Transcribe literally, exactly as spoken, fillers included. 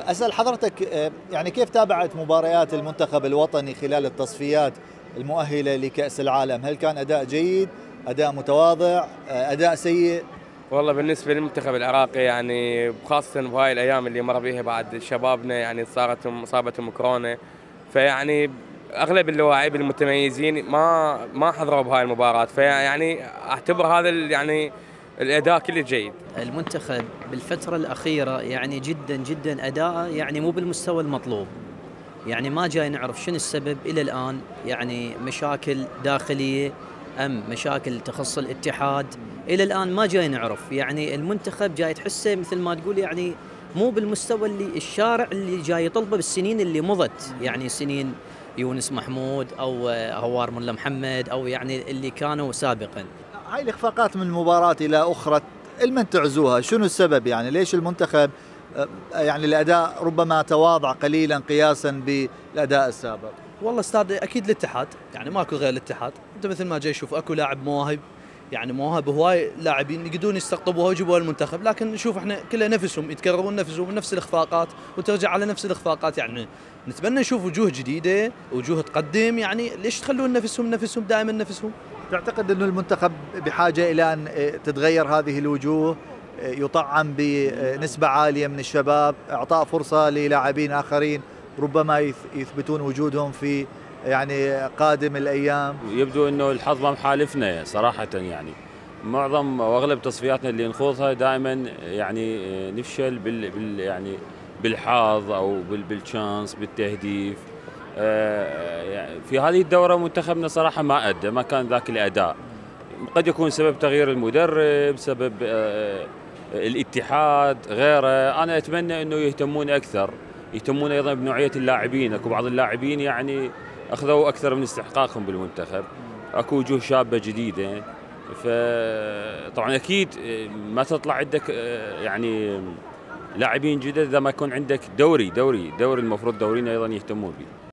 أسأل حضرتك آه، يعني كيف تابعت مباريات المنتخب الوطني خلال التصفيات المؤهلة لكأس العالم؟ هل كان أداء جيد، أداء متواضع، آه، أداء سيء؟ والله بالنسبة للمنتخب العراقي يعني خاصة بهاي الأيام اللي مر بيها بعد شبابنا يعني صارتهم أصابتهم كورونا، فيعني أغلب اللاعبين المتميزين ما ما حضروا بهاي المباراة، فيعني أعتبر هذا يعني الأداء كله جيد. المنتخب بالفترة الأخيرة يعني جدا جدا أداءه يعني مو بالمستوى المطلوب، يعني ما جاي نعرف شنو السبب إلى الآن، يعني مشاكل داخلية أم مشاكل تخص الاتحاد إلى الآن ما جاي نعرف. يعني المنتخب جاي تحسه مثل ما تقول يعني مو بالمستوى اللي الشارع اللي جاي يطلبه بالسنين اللي مضت، يعني سنين يونس محمود أو هوار ملا محمد أو يعني اللي كانوا سابقا. هاي الإخفاقات من مباراة إلى أخرى لمن تعزوها؟ شنو السبب؟ يعني ليش المنتخب آه، يعني الأداء ربما تواضع قليلا قياسا بالأداء السابق؟ والله استاذ اكيد الاتحاد، يعني ماكو غير الاتحاد. انت مثل ما جاي تشوف اكو لاعب مواهب، يعني مواهب هواي لاعبين يقدرون يستقطبوها ويجيبوها المنتخب، لكن نشوف احنا كلها نفسهم يتكررون نفسهم نفس الاخفاقات وترجع على نفس الاخفاقات. يعني نتمنى نشوف وجوه جديده، وجوه تقدم. يعني ليش تخلون نفسهم نفسهم دائما نفسهم؟ تعتقد أن المنتخب بحاجة إلى أن تتغير هذه الوجوه، يطعم بنسبة عالية من الشباب، إعطاء فرصة للاعبين آخرين ربما يثبتون وجودهم في يعني قادم الأيام؟ يبدو أنه الحظ ما محالفنا صراحة، يعني معظم واغلب تصفياتنا اللي نخوضها دائما يعني نفشل بال, بال يعني بالحظ او بالشانس بالتهديف. في هذه الدورة منتخبنا صراحة ما أدى، ما كان ذاك الأداء. قد يكون سبب تغيير المدرب، سبب الاتحاد، غيره. أنا أتمنى أنه يهتمون أكثر، يهتمون أيضا بنوعية اللاعبين. أكو بعض اللاعبين يعني أخذوا أكثر من استحقاقهم بالمنتخب، أكو وجوه شابة جديدة. فطبعا أكيد ما تطلع عندك يعني لاعبين جدد إذا ما يكون عندك دوري دوري دوري المفروض دوريين أيضا يهتمون به.